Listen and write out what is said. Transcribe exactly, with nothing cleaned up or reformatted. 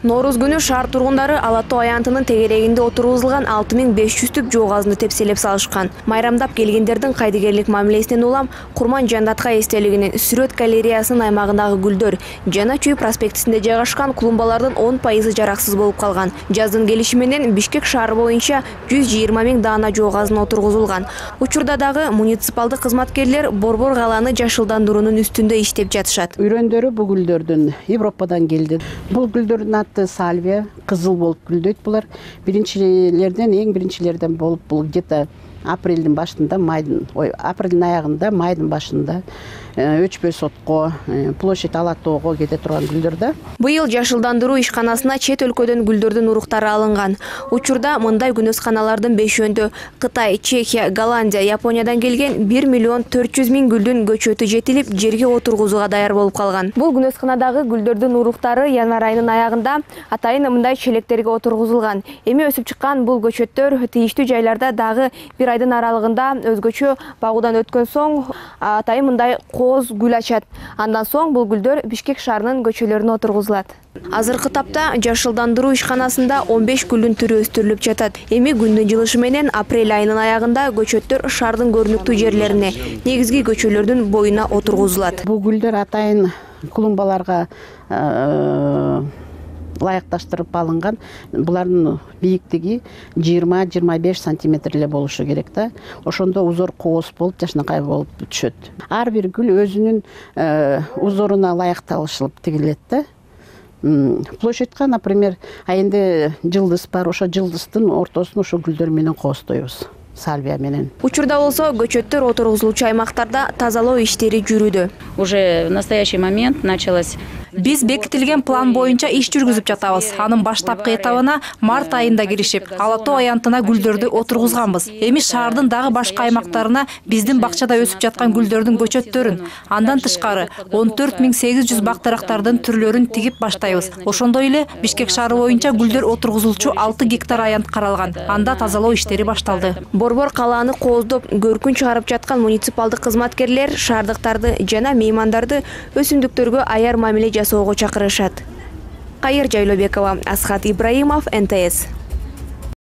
Нооруз күнү шаар тургундары Ала Тоо аянтынын тегерегинде отургузулган алты миң беш жүз түп жоо газды тепселеп салышкан. Майрамдап келгендердин кайдыгерлик мамилесинен улам Курман Жандатка эстелигинин сүрөт галереясынын аймагындагы гүлдөр Жана Чүй проспектисинде жайгашкан клумбалардын он пайызы жараксыз болуп калган. Жаздын келиши менен Бишкек шаары боюнча жүз жыйырма миң даана жоо газы отургузулган. Учурда дагы муниципалдык кызматкерлер борбор калааны жашылдандыруунун үстүндө иштеп жатышат. Үйрөндөрү бул гүлдөрдүн Европадан келди. Бул гүлдөрдүн аты сальвия, кызыл болуп гүлдөйт булар. Биринчилерден, эң биринчилерден болуп бул где-то апрелдин башында, майдын, ой, апрелдин аягында, майдын башында Өчпөй сотко, площадь Ала Тоого кете турган гүлдөр да. Быйыл жашылдандыруу ишканасына чет өлкөдөн гүлдөрдүн уруктары алынган. Учурда мындай күнөсканалардын бешөөндө Кытай, Чехия, Голландия, Япониядан келген бир миллион төрт жүз миң гүлдүн көчөтү жетилип, жерге отургузууга даяр болуп калган. Бул күнөсканадагы гүлдөрдүн уруктары январь айынын аягында атайын мындай челектерге отургузулган. Эми өсүп чыккан бул көчөттөр тийиштүү жайларда дагы бир айдын аралыгында өзгөчө багуудан өткөн соң атайын мындай кооз гүл ачат. Андан соң бул гүлдөр Бишкек шаарынын көчөлөрүнө отургузулат. Азыркы тапта жашылдандыруу ишканасында он беш гүлдүн түрү өстүрүлүп жатат. Эми күндүн жылышы менен апрель айынын аягында көчөттөр шаардын көрүнүктүү жерлерине, негизги көчөлөрдүн боюна отургузулат. Бул гүлдөр атайын клумбаларга лайыкташтырып алынган. Булардын бийиктиги жыйырма — жыйырма беш сантиметр эле болушу керек да. Ошондо узор кооз болуп, жашынакай болуп түшөт. Ар бир гүл өзүнүн узоруна лайыкталышылып тигилет да. Площадька, например, айында жылдыз бар, ошо жылдыздын ортосун ошо гүлдөр менен коостойбуз. Сальвия менен. Учурда болсо көчөттөр отургузулуучу аймактарда тазалоо иштери жүрүүдө. Уже в настоящий момент началось. Биз бекитилген план боюнча иш жүргүзүп жатабыз. Анын баштапкы этабына март айында киришип, Ала Тоо аянтына гүлдөрдү отургузганбыз. Эми шаардын дагы башка аймактарына биздин бакчада өсүп жаткан гүлдөрдүн көчөттөрүн, андан тышкары он төрт миң сегиз жүз бак дарактардын түрлөрүн тигип баштайбыз. Ошондой эле Бишкек шаары боюнча гүлдөр отургузулчу алты гектар аянт каралган. Анда тазалоо иштери башталды. Борбор калааны кооздоп, көркүн чыгарып жаткан муниципалдык кызматкерлер шаардыктарды жана меймандарды өсүмдүктөргө аяр мамиле жасоого чакырышат. Кайыр Жайлообекова, Асхат Ибраимов, эн тэ эс.